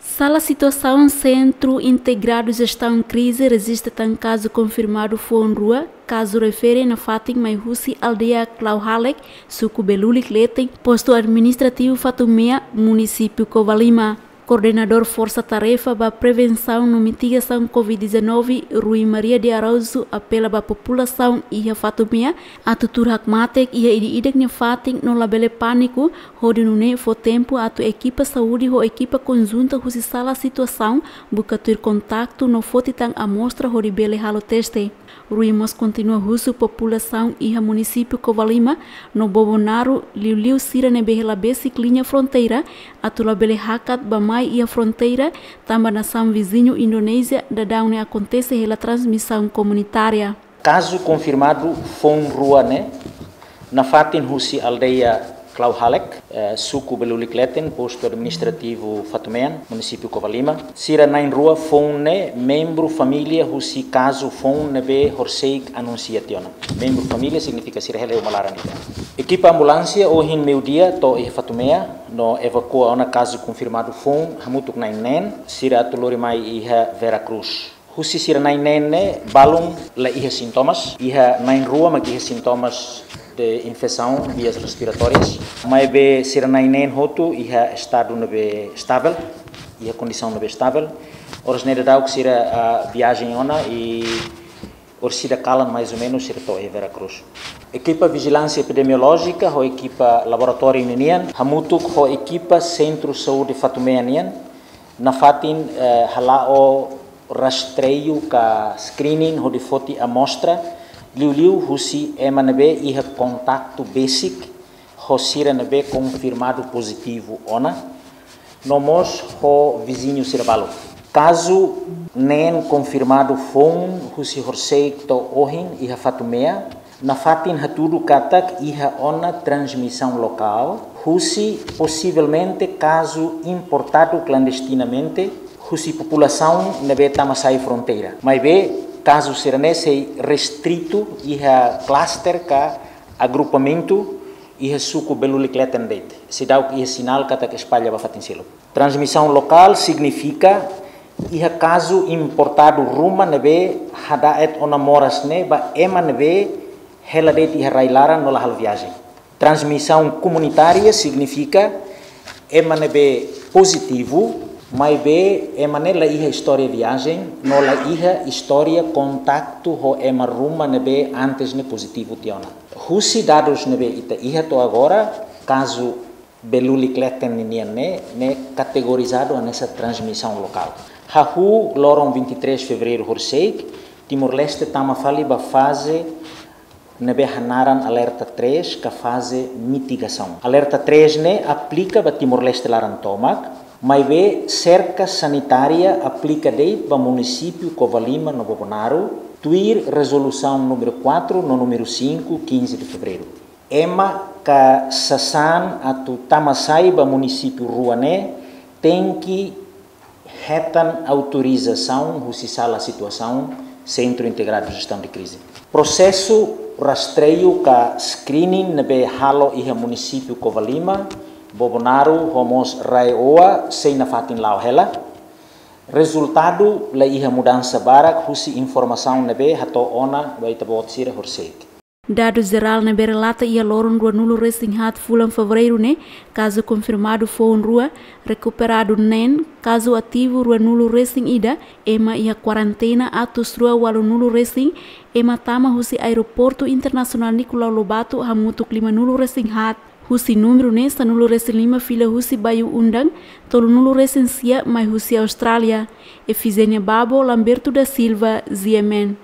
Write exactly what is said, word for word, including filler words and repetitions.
Sala situasaun Sentru Integradu Jestaun Krize rejista tan kazu konfirmadu foun rua. Kazu refere nafatin mai husi aldeia Klauhalek, suku Belulik Leten, postu administrativu Fatumea, munisípiu Covalima. Koordenadór Forsa Tarefa ba Prevensaun no Mitigasaun covid dezanove, Rui Maria de Araújo, apela ba populasaun iha Fatumea atu tuur hakmatek iha ida-idak nia fatin no labele pániku, hodi nune'e fó tempu atu ekipa saúde ho ekipa konjunta husi sala situasaun buka tuir kontaktu no foti tan amostra hodi bele halo teste. Rui mós kontinua husu populasaun iha munisípiu Covalima no Bobonaro, liuliu sira ne'ebé hela besik liña fronteira, atu labele hakat bá-mai iha fronteira, tanba nasaun viziñu Indonézia daudaun ne'e akontese hela transmisaun komunitária. Kazu konfirmadu foun rua ne'e nafatin husi aldeia Klauhalek, eh, suku Belulik Leten, postu administrativu Fatumean, munisípiu Covalima. Sira na'in rua foun ne'e membru família husi kazu foun ne'ebé horisehik anunsia tiha ona. Membru família signifika sira hela uma laran ida. Ekipa ambulánsia ohin meiudia to'o iha Fatumea no evakua ona kazu konfirmadu foun hamutuk na'in neen, sira atu lori mai iha Vera Cruz. Husi sira na'in neen ne'e, balun la iha sintomas, iha na'in rua mak iha sintomas de infesaun vias respiratórias. Maibé sira na'in neen hotu iha estadu ne'ebé estável, iha kondisaun ne'ebé estável. Oras ne'e daudauk sira, ah, viajen ona i orsida kalan mais ou menus sira to'o iha Vera Cruz. Ekipa vijilánsia epidemiolójika ho ekipa laboratóriu ninian, hamutuk ho ekipa Sentru Saúde Fatumea nian, nafatin, eh, hala'o rastreiu ka screening hodi foti amostra, liuliu husi ema ne'ebé iha kontaktu besik ho sira ne'ebé konfirmadu pozitivu ona, no mós ho viziñu sira balu. Kazu neen konfirmadu foun husi horisehik to'o ohin iha Fatumea, nafatin hatudu katak iha ona transmisaun lokál husi posivelmente kazu importadu klandestinamente husi populasaun ne'ebé tama sai fronteira. Maibé kazu sira-ne'e sei restritu iha klaster ka agrupamentu iha suku Belulik Leten de'it. Seidauk iha sinál katak espalla ba fatin seluk. Transmisaun lokál signifika iha kazu importadu ruma ne'ebé hada'et ona moras ne'e ba ema ne'ebé hela de'it iha rai-laran no la halo viajen. Transmisaun komunitária signifika ema ne'ebé pozitivu, maibé ema ne'e la iha istória viajen no la iha istória kontaktu ho ema ruma ne'ebé antes ne'e pozitivu tiha ona. Husi dadus ne'ebé ita iha to'o agora, kazu Belulik Leten ninian ne'e, ne'e kategorizadu hanesan transmisaun lokál. Hahú loron vinte e três fevereiru horisehik, Timor-Leste tama fali ba faze ne'ebé hanaran alerta três ka faze mitigasaun. Alerta três ne'e aplika ba Timor-Leste laran tomak, maibé serka sanitária aplika de'it ba munisípiu Covalima no Bobonaro, tuir rezolusaun númeru quatro no númeru cinco, quinze de fevereiro. Ema ka sasán atu tama sai ba munisípiu rua ne'e tenke hetan autorizasaun husi sala situasaun Sentru Integradu Jestaun de Krize. Prosesu rastreiu ka screening ne'ebé halo iha munisípiu Covalima, Bobonaro, ho mós RAEOA sei nafatin la'o hela. Rezultadu la iha mudansa barak husi informasaun ne'ebé hato'o ona ba ita-boot sira horisehik. Dadu jerál ne'ebé relata iha loron ruanulu-resin-haat fulan Fevereiru ne'e, kazu konfirmadu foun rua, rekuperadu neen, kazu ativu ruanulu-resin-ida, ema iha kuarentena atus rua ualunulu-resin, ema tama husi Aeroportu Internasionál Nicolau Lobato hamutuk limanulu-resin-haat. Husi númeru ne'e sanulu-resin-lima fila husi Bayu Undang, tolunulu-resin-sia mai husi Austrália. Efigénia Babo, Lamberto da Silva, G M N.